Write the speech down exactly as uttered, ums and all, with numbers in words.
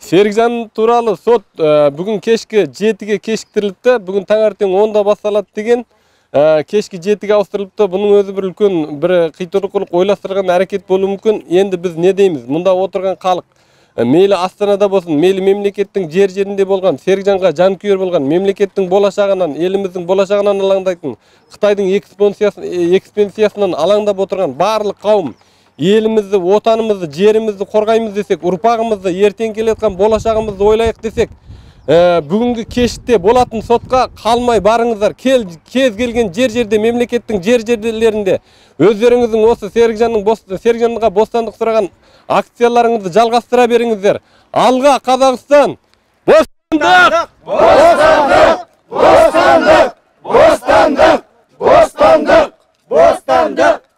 Серикжан тууралуу сот бүгүн кечки жетиге кечиктирилипти. Бүгүн таңертең онда башталат деген. Кечки жетиге ауыстырылыпты. Бунун өзү бир үлкөн бир кыйтыркулук ойлоштурган аракет болушу мүмкүн. Энди биз не дейбиз? Мында отурган калк мейли Астанада болсун, мейли мемлекеттин жер-жеринде болгон, Серикжанга жанкүйөр болгон, мемлекеттин болашагынан, элимиздин болашагынан алаңдайтын, Кытайдын экспансиясынан алаңдап отурган баардык кавым элимизди, отанымызды, жеримизди коргоймуз десек, урпагымызды, эртең келаткан болашагыбызды ойлайык десек, бүгүнкү кечте болатын сотко калмай барыңыздар. Кел, кез келген жер-жерде, мемлекеттин жер-жерлеринде өздөрүңүздүн осы Серикжандын Серикжанга бостандык сураган акцияларыңызды жалгастыра бериңиздер. Алга Казакстан! Бостандык! Бостандык! Бостандык! Бостандык! Бостандык! Бостандык!